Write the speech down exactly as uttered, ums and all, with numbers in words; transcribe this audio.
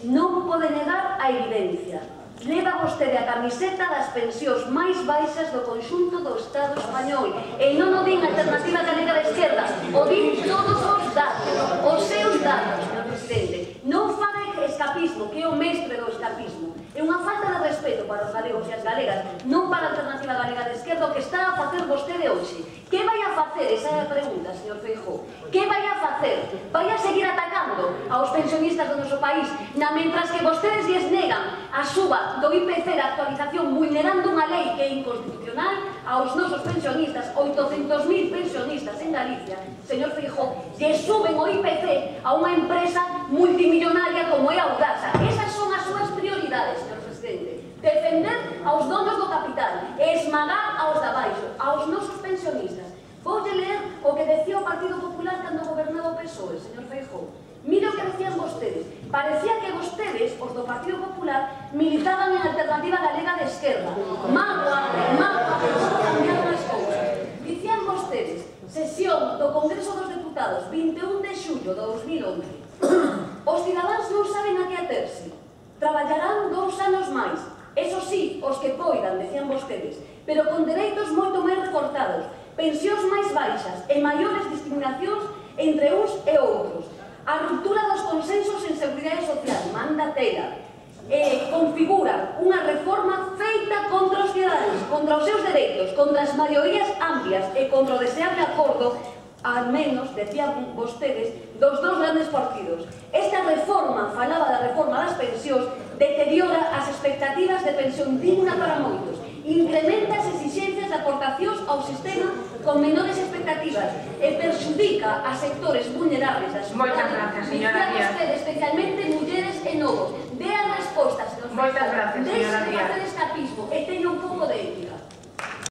non pode negar a evidencia. Leva vostede a camiseta das pensións máis baixas do conxunto do Estado español. E non o din a Alternativa Galega de Esquerda, o din todos os datos, os seus datos, señor presidente. Non faga escapismo, que é o mestre do escapismo. É unha falta de respeto para os galegos e as galegas, non para a Alternativa Galega de Esquerda, o que está a facer vostede hoxe. Que vai a facer? Esa é a pregunta, señor Feijóo. Que vai a facer? Vai a seguir atacando aos pensionistas do noso país, na mentras que vostedes lles negan a suba do I P C da actualización, vulnerando unha lei que é inconstitucional aos nosos pensionistas, oitocentos mil pensionistas en Galicia, señor Feijóo, lle suben o I P C a unha empresa multimillonaria como é a Audasa. Esas son as súas prioridades, señor presidente. Defender aos donos do capital e esmagar aos de abaixo, aos nosos pensionistas. Voulle ler o que decía o Partido Popular cando gobernaba o P S O E, señor Feijóo. Mire o que decían vostedes. Parecía que vostedes, os do Partido Popular, militaban en Alternativa Galega de Esquerda. Magua, magua, cambiaron as cousas. Dicían vostedes, sesión do Congreso dos Deputados, vinte e un de xullo de dos mil once. Os cidadáns non saben a que aterse. Traballarán dous anos máis. Eso sí, os que poidan, decían vostedes, pero con dereitos moito máis recortados, pensións máis baixas e maiores discriminacións entre uns e outros. A ruptura dos consensos en seguridade social, manda tela, eh, configura unha reforma feita contra os ciudadanos, contra os seus dereitos, contra as maiorías amplias e contra o deseable acordo, al menos, decían vostedes, dos dos grandes partidos. Esta reforma, falaba da reforma das pensións, deteriora as expectativas de pensión digna para moitos, incrementa as exixencias de aportacións ao sistema con menores expectativas e perxudica a sectores vulnerables da sociedade. Moitas gracias, señora Díaz. Especialmente mulleres e novos. Dé a resposta, señor. Moitas gracias, señora Díaz. Deixe de facer escapismo e